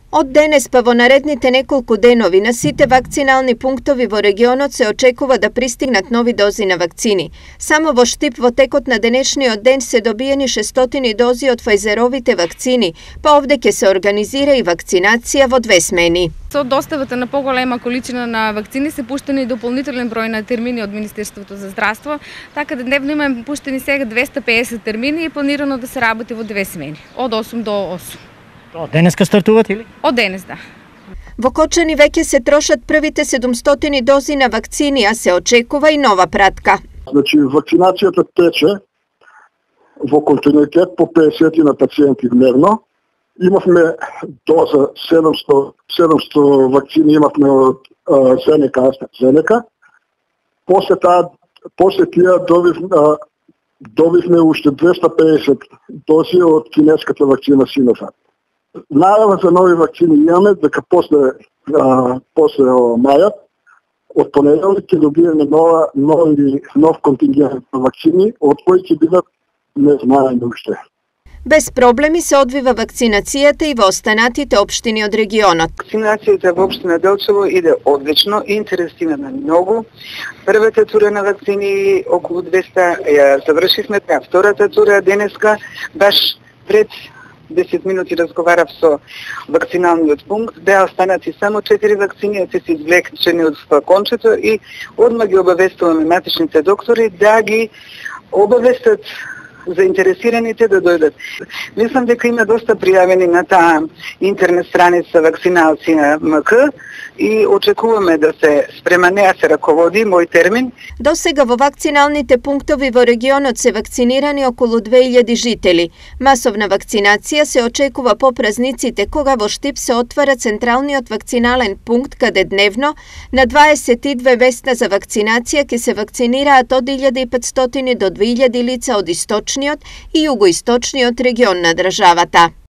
Од денес па во наредните неколку денови на сите вакцинални пунктови во регионот се очекува да пристигнат нови дози на вакцини. Само во Штип во текот на денешниот ден се добиени 600 дози од Фајзеровите вакцини, па овде ќе се организира и вакцинација во 2 смени. Со доставата на поголема количина на вакцини се пуштени дополнителен број на термини од Министерството за здравство, така да дневно имаме пуштени сега 250 термини и планирано да се работи во 2 смени, од 8 до 8. Од денеска стартуват или? Од денес, да. Во Кочани веќе се трошат првите 700 дози на вакцини, а се очекува и нова пратка. Значи, вакцинацијата тече во континуитет по 50 на пациенти дневно. Имавме доза 700 вакцини имавме од AstraZeneca. После тие добивме уште 250 дози од кинеската вакцина Sinovac. Најава за нови вакцини имаме дека после мајот од понеделник ќе добиеме нов контингент на вакцини, од кои ќе бидат не знаеме уште. Без проблеми се одвива вакцинацијата и во останатите општини од регионот. Вакцинацијата во општина Делчево иде одлично, интересира на многу. Првата тура на вакцини околу 200 ја завршивме, втората тура денеска баш пред 10 минути разговарав со вакциналниот пункт, беа останати само 4 вакцини, се се извлекчени од флакончето и одма ги обавестуваме матичните доктори да ги обавестат заинтересираните да дојдат. Мислам дека има доста пријавени на таа интернет страница вакциналци МК и очекуваме да се спрема неа се раководи мој термин. До сега во вакциналните пунктови во регионот се вакцинирани околу 2000 жители. Масовна вакцинација се очекува по празниците кога во Штип се отвара централниот вакцинален пункт каде дневно на 22 места за вакцинација ќе се вакцинираат од 1500 до 2000 лица од источниот и југоисточниот регион на државата.